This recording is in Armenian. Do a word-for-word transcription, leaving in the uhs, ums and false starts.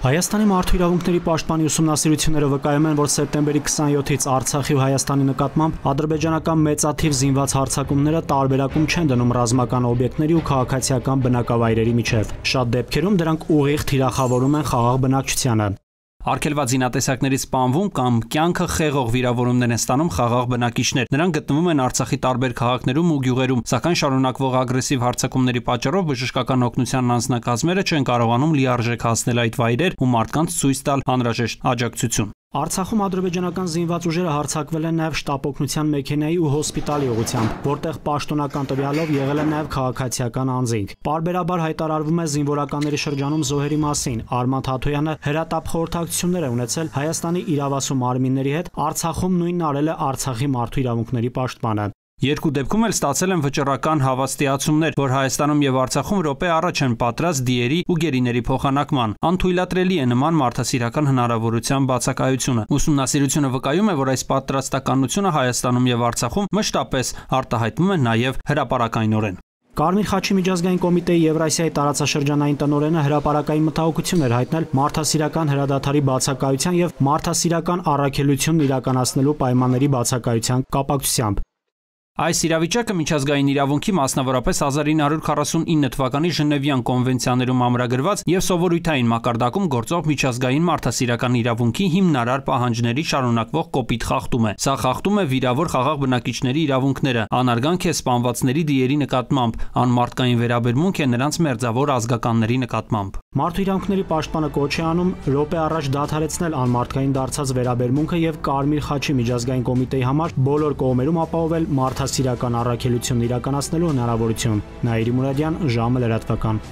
Հայաստանի մարդու իրավունքների պաշտպանի ուսումնասիրությունները վկայում են, որ սեպտեմբերի քսաներկուից Արցախի ու Հայաստանի նկատմամբ ադրբեջանական մեծաթիվ զինված հարձակումները տարբերակում չեն դնում ռազմական օբյեկտների ու քաղաքացիական բնակավայրերի միջև։ Շատ դեպքերում դրանք ուղիղ թիրախավորում են խաղաղ բնակչությանը։ Արգելված զինատեսակներից սպանվում կամ կյանքը խեղող վիրավորումներ են ստանում խաղաղ բնակիչներ։ Նրանք գտնվում են Արցախի տարբեր քաղաքներում ու գյուղերում, սակայն շարունակվող ագրեսիվ հարձակումների պատճառով բժշկական օգնության անձնակազմերը չեն կարողանում լիարժեք հասնել այդ վայրեր ու մարդկանց ցույց տալ անհրաժեշտ աջակցություն։ Արցախում ադրբեջանական զինված ուժերը հարձակվել են նաև շտապ օգնության մեքենայի ու հոսպիտալի ուղղությամբ, որտեղ պաշտոնական տվյալով եղել է նաև քաղաքացիական անձինք։ Պարբերաբար հայտարարվում է զինվորականների շրջանում զոհերի մասին։ Արման Թաթոյանը հրատապ խորհրդակցություններ է ունեցել Հայաստանի իրավասու մարմինների հետ, Արցախում նույնն արել է Արցախի մարդու իրավունքների պաշտպանը։ Երկու դեպքում էլ ստացել են վճռական հավաստիացումներ, որ Հայաստանում եւ Արցախում րոպե առաջ են պատրաստ դիերի ու գերիների փոխանակման։ Անթույլատրելի է նման մարդասիրական հնարավորության բացակայությունը։ Ուսումնասիրությունը վկայում է, որ այս պատրաստականությունը Հայաստանում եւ Արցախում մշտապես արտահայտվում է նաեւ հրապարակայնորեն։ Կարմիր խաչի միջազգային կոմիտեի Եվրասիայի տարածաշրջանային տնօրենը հրապարակային մտահոգություն էր հայտնել մարդասիրական հրադադարի բացակայության եւ մարդասիրական առաքելությունն իրականացնելու պայմանների բացակայության կապակցությամբ։ Այս իրավիճակը միջազգային իրավունքի, մասնավորապես հազար ինը հարյուր քառասունինը թվականի Ժնևյան կոնվենցիաներում ամրագրված եւ սովորույթային մակարդակում գործող միջազգային մարդասիրական իրավունքի հիմնարար պահանջների շարունակվող կոպիտ խախտում է։ Սա խախտում է վիրավոր խաղաղ բնակիչների իրավունքները, անարգանք է սպանվածների դիերի նկատմամբ, անմարդկային վերաբերմունք է նրանց մերձավոր ազգականների նկատմամբ։ Մարդու իրավունքների պաշտպանը կոչ է անում րոպե առաջ դադարեցնել անմարդկային դարձած վերաբերմունքը եւ Կարմիր խաչի միջազգային կոմիտեի համար բոլոր կողմերում ապահովել մարդասիրական առաքելությունն իրականացնելու հնարավորություն։ Նաիրի Մուրադյան, ժամը լրատվական։